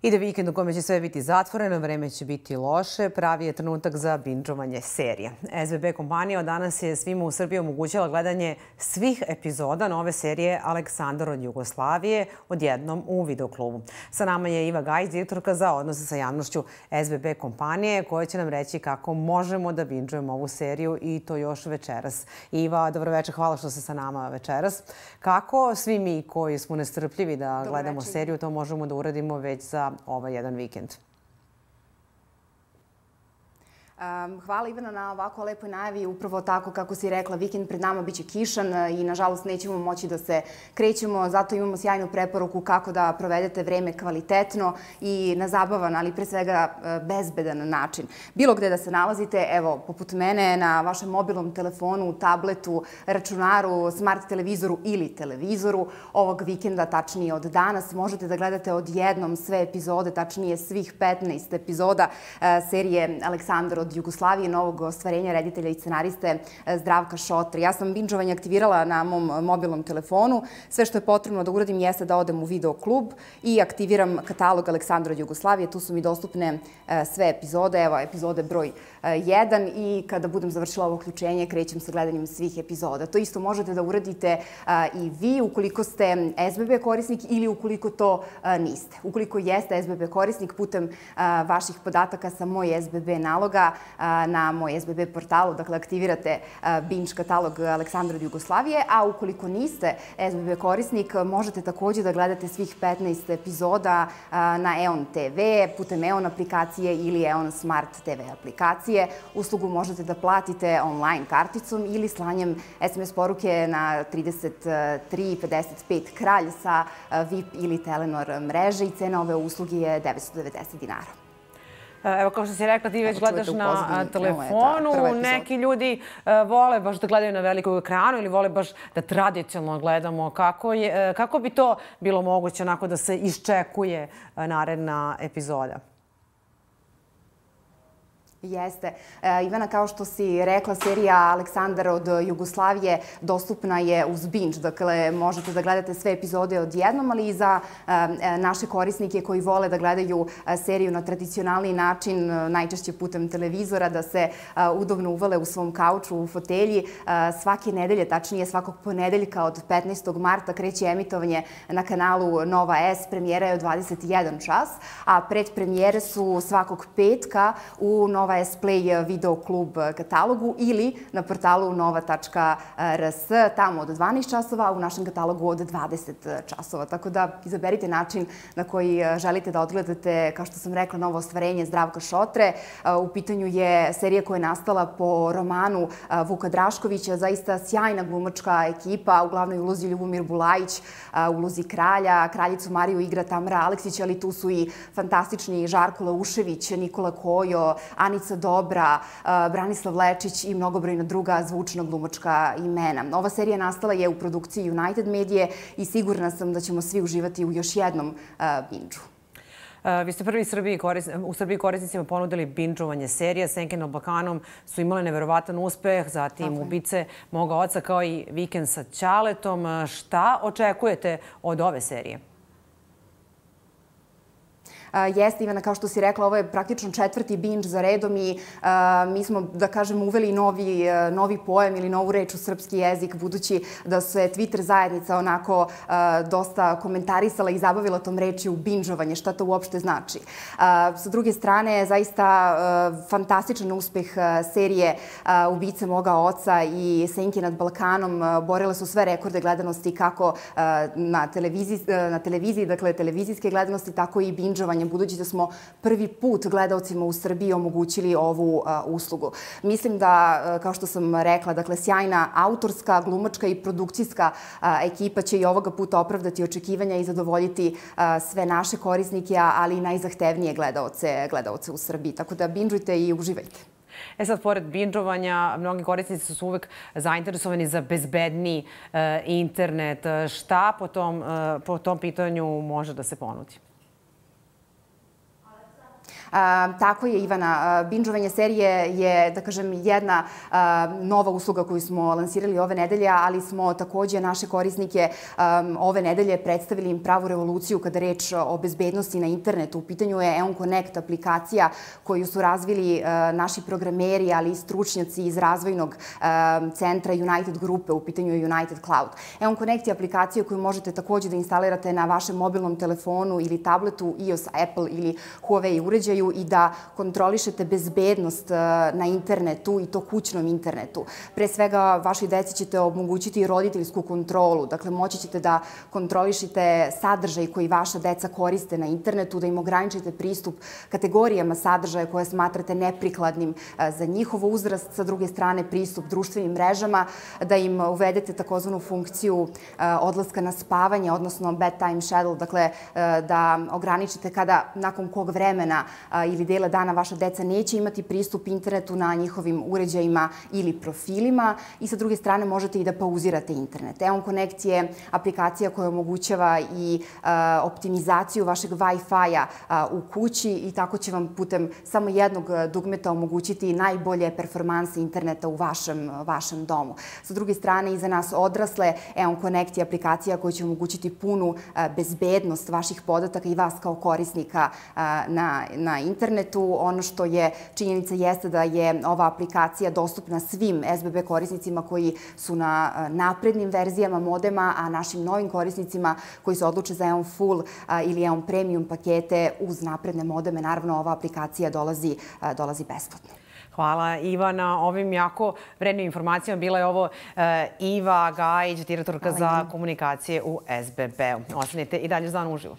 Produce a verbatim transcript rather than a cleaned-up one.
Ide vikend u kome će sve biti zatvoreno, vreme će biti loše, pravi je trenutak za bindžovanje serije. S B B kompanija od danas je svima u Srbiji omogućila gledanje svih epizoda nove serije Aleksandar od Jugoslavije odjednom u videoklubu. Sa nama je Iva Gajić, direktorka za odnose sa javnošću S B B kompanije, koja će nam reći kako možemo da bindžujemo ovu seriju i to još večeras. Iva, dobro večer, hvala što ste sa nama večeras. Kako svi mi koji smo nestrpljivi da gledamo seriju, to možemo da uradimo već za ovaj jedan vikend? Hvala Ivana na ovako lepoj najavi. Upravo tako kako si rekla, vikend pred nama biće kišan i nažalost nećemo moći da se krećemo. Zato imamo sjajnu preporuku kako da provedete vreme kvalitetno i na zabavan, ali pre svega bezbedan način. Bilo gde da se nalazite, evo, poput mene, na vašem mobilnom telefonu, tabletu, računaru, smart televizoru ili televizoru, ovog vikenda, tačnije od danas, možete da gledate odjednom sve epizode, tačnije svih petnaest epizoda serije Aleksandar od Jugoslavije, novog ostvarenja reditelja i scenariste Zdravka Šotre. Ja sam bindžovanje aktivirala na mom mobilnom telefonu. Sve što je potrebno da uradim jeste da odem u videoklub i aktiviram katalog Aleksandra od Jugoslavije. Tu su mi dostupne sve epizode. Evo, epizode broj jedan i kada budem završila ovo uključenje, krećem sa gledanjem svih epizoda. To isto možete da uradite i vi ukoliko ste S B B korisnik ili ukoliko to niste. Ukoliko jeste S B B korisnik, putem vaših podataka sa moj S B B naloga na moj S B B portalu, dakle aktivirate binge katalog Aleksandra od Jugoslavije, a ukoliko niste S B B korisnik, možete takođe da gledate svih petnaest epizoda na EON T V, putem EON aplikacije ili EON Smart T V aplikacije. Uslugu možete da platite online karticom ili slanjem S M S poruke na trideset tri pedeset pet kralj sa V I P ili Telenor mreže i cena ove usluge je devetsto devedeset dinara. Evo, kao što si rekla, ti već gledaš na telefonu. Neki ljudi vole baš da gledaju na velikom ekranu ili vole baš da tradicionalno gledamo. Kako bi to bilo moguće onako da se iščekuje naredna epizoda? Jeste. Ivana, kao što si rekla, serija Aleksandar od Jugoslavije dostupna je uz binge. Dakle, možete da gledate sve epizode odjednom, ali i za naše korisnike koji vole da gledaju seriju na tradicionalni način, najčešće putem televizora, da se udobno uvale u svom kauču, u fotelji. Svake nedelje, tačnije svakog ponedeljka od petnaestog marta kreće emitovanje na kanalu Nova S. Premijera je od dvadeset jedan čas, a predpremijere su svakog petka u Nova S Play video klub katalogu ili na portalu nova tačka r s, tamo od dvanaest časova, a u našem katalogu od dvadeset časova. Tako da izaberite način na koji želite da odgledate, kao što sam rekla, novo ostvarenje Zdravka Šotre. U pitanju je serija koja je nastala po romanu Vuka Draškovića, zaista sjajna glumačka ekipa, u glavnoj ulozi Ljubomir Bulajić, u ulozi kralja, kraljicu Mariju igra Tamara Aleksić, ali tu su i fantastični Žarko Laušević, Nikola Kojo, Anica Dobra, Branislav Lečić i mnogobrojna druga zvučna glumačka imena. Ova serija nastala je u produkciji United Medije i sigurna sam da ćemo svi uživati u još jednom bindžu. Vi ste prvi u Srbiji korisnicima ponudili bindžovanje serija. Senke nad Balkanom su imale neverovatan uspeh, zatim Ubice moga oca kao i Vikend sa Ćaletom. Šta očekujete od ove serije? Jeste, Ivana, kao što si rekla, ovo je praktično četvrti binge za redom i mi smo, da kažem, uveli novi pojam ili novu reč u srpski jezik, budući da se Twitter zajednica onako dosta komentarisala i zabavila tom rečju bindžovanje. Šta to uopšte znači? Sa druge strane, zaista fantastičan uspeh serije Ubice moga oca i Senke nad Balkanom. Borile su sve rekorde gledanosti kako na televiziji, dakle televizijske gledanosti, tako i bindžovanje, budući da smo prvi put gledalcima u Srbiji omogućili ovu uslugu. Mislim da, kao što sam rekla, dakle, sjajna autorska, glumačka i produkcijska ekipa će i ovoga puta opravdati očekivanja i zadovoljiti sve naše korisnike, ali i najzahtevnije gledaoce u Srbiji. Tako da bindžujte i uživajte. E sad, pored bindžovanja, mnogi korisnici su uvek zainteresovani za bezbedniji internet. Šta po tom pitanju može da se ponudi? Tako je, Ivana. Binđovanje serije je, da kažem, jedna nova usluga koju smo lansirali ove nedelje, ali smo takođe naše korisnike ove nedelje predstavili im pravu revoluciju kada je reč o bezbednosti na internetu. U pitanju je Eon Connect aplikacija koju su razvili naši programeri, ali i stručnjaci iz razvojnog centra United grupe. U pitanju je United Cloud. Eon Connect je aplikacija koju možete takođe da instalirate na vašem mobilnom telefonu ili tabletu, iOS, Apple ili Huawei uređaju i da kontrolišete bezbednost na internetu i to kućnom internetu. Pre svega, vašoj deci ćete omogućiti roditeljsku kontrolu. Dakle, moći ćete da kontrolišete sadržaj koji vaša deca koriste na internetu, da im ograničite pristup kategorijama sadržaja koje smatrate neprikladnim za njihov uzrast, sa druge strane pristup društvenim mrežama, da im uvedete takozvanu funkciju odlaska na spavanje, odnosno bedtime schedule, dakle da ograničite kada, nakon kog vremena ili dela dana vaša deca neće imati pristup internetu na njihovim uređajima ili profilima i sa druge strane možete i da pauzirate internet. Eon Connect je aplikacija koja omogućava i optimizaciju vašeg Wi-Fi-a u kući i tako će vam putem samo jednog dugmeta omogućiti najbolje performanse interneta u vašem, vašem domu. Sa druge strane, i za nas odrasle, Eon Connect je aplikacija koja će omogućiti punu bezbednost vaših podataka i vas kao korisnika na, na internetu. Ono što je činjenica jeste da je ova aplikacija dostupna svim S B B korisnicima koji su na naprednim verzijama modema, a našim novim korisnicima koji se odluče za Eon Full ili Eon Premium pakete uz napredne modeme. Naravno, ova aplikacija dolazi, dolazi besplatno. Hvala, Iva, na ovim jako vrednim informacijama. Bila je ovo Iva Gajić, direktorka za komunikacije u S B B-u. Ostanite i dalje uz Dan uživo.